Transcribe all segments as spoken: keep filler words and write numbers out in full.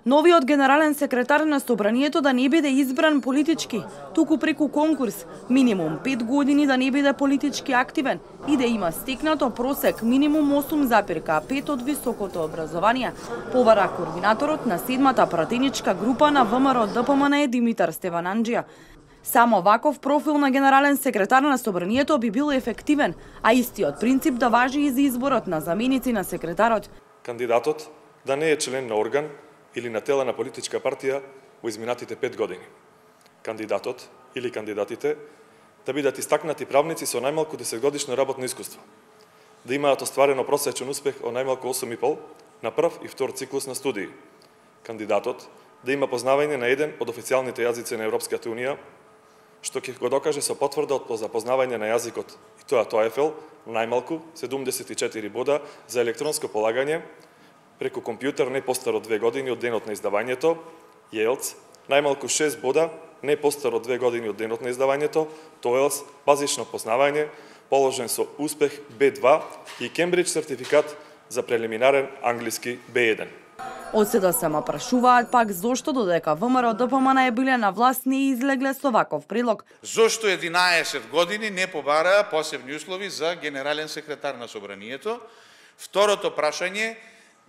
Новиот генерален секретар на Собранието да не биде избран политички, туку преку конкурс, минимум пет години да не биде политички активен и да има стекнато просек минимум осум запирка пет од високото образование, повара координаторот на седмата пратеничка група на ВМРО Д П М Н Димитар Стевананџија. Само ваков профил на генерален секретар на Собранието би бил ефективен, а истиот принцип да важи и за изборот на заменици на секретарот. Кандидатот да не е член на орган или на тела на политичка партија во изминатите пет години. Кандидатот или кандидатите да бидат истакнати правници со најмалку десетгодишно работно искуство, да имаат остварено просечен успех од најмалку осум и пол на прв и втор циклус на студии. Кандидатот да има познавање на еден од официјалните јазици на Европската унија, што ќе го докаже со потврда од запознавање на јазикот, и тоа TOEFL, најмалку седумдесет и четири бода за електронско полагање преку компјутер не постар од две години од денот на издавањето, ЙЕЛТС, најмалку шест бода не постар од две години од денот на издавањето, TOELTS, базично познавање, положен со успех Б два и Кембридж сертификат за прелиминарен англиски Б еден. Од се да се ма прашуваат пак зошто додека ВМРО Д П М Н биле на власт не излегле со ваков предлог. Зошто единаесет години не побараа посебни услови за генерален секретар на Собранието? Второто прашање,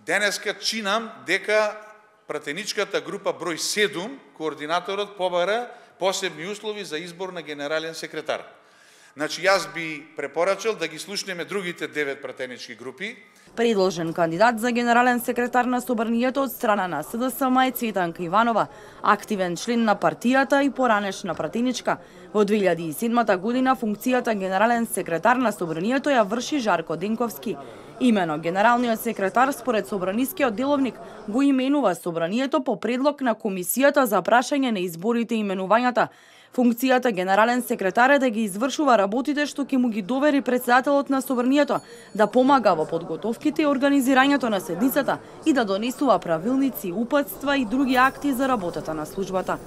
денеска чинам дека пратеничката група број седум, координаторот побара посебни услови за избор на генерален секретар. Значи, јас би препорачал да ги слушнеме другите девет пратенички групи. Предложен кандидат за генерален секретар на Собранието од страна на С Д С М е Цветанка Иванова, активен член на партијата и поранешна пратеничка. Во две илјади и седма година функцијата генерален секретар на Собранието ја врши Жарко Денковски. Имено генералниот секретар според Собранискиот деловник го именува Собранието по предлог на Комисијата за прашање на изборите и именувањата. Функцијата генерален секретар е да ги извршува работите што ќе му ги довери претседателот на Собранието, да помага во подготовките и организирањето на седницата и да донесува правилници, упатства и други акти за работата на службата.